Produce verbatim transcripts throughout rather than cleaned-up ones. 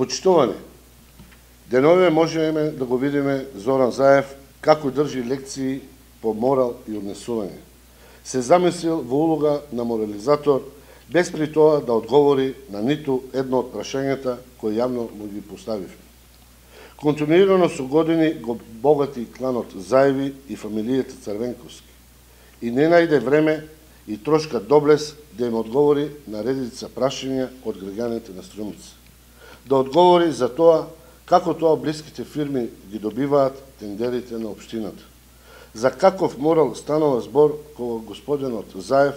Почитувани, денове можеме да го видиме Зоран Заев како држи лекции по морал и однесување. Се замислил во улога на морализатор, без при тоа да одговори на ниту едно од прашањата кои јавно му ги поставивме. Континуирано со години го богати кланот Заеви и фамилијата Црвенковски и не најде време и трошка доблес да им одговори на редица прашања од граѓаните на Струмица. Да одговори за тоа како тоа блиските фирми ги добиваат тендерите на општината. За каков морал станува збор кога господинот Заев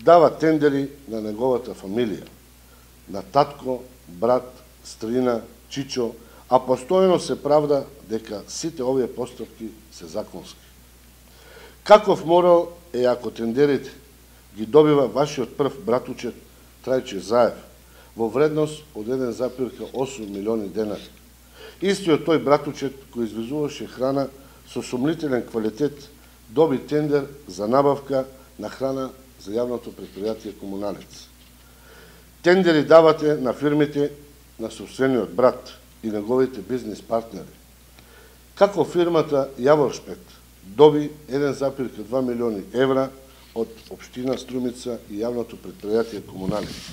дава тендери на неговата фамилија, на татко, брат, стрина, чичо, а постојано се правда дека сите овие постапки се законски. Каков морал е ако тендерите ги добива вашиот прв братучет Трајче Заев во вредност од еден запир осум милиони денари. Истиот тој братучет кој извезуваше храна со сумнителен квалитет доби тендер за набавка на храна за јавното предпријатие Комуналец. Тендери давате на фирмите на собствениот брат и неговите бизнес партнери. Како фирмата Јаворшпет доби еден запир два милиони евра од општина Струмица и јавното предпријатие Комуналец.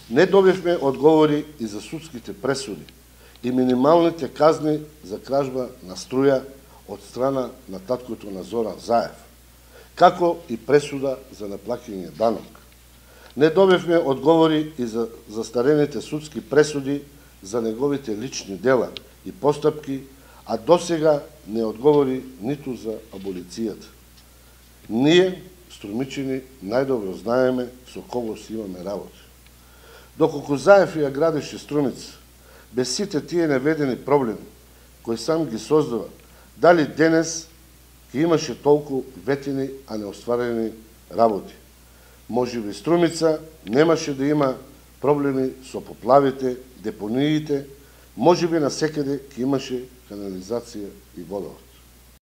Не добивме одговори и за судските пресуди и минималните казни за кражба на струја од страна на таткото на Зоран Заев, како и пресуда за наплаќање данок. Не добивме одговори и за застарените судски пресуди за неговите лични дела и постапки, а досега не одговори ниту за аболицијата. Ние, струмичани, најдобро знаеме со кого си имаме работа. Доколку Заев ја градеше Струмица, без сите тие наведени проблеми, кои сам ги создава, дали денес ќе имаше толку ветени, а не остварени работи. Може би Струмица немаше да има проблеми со поплавите, депониите, може би насекаде ќе имаше канализација и водовод.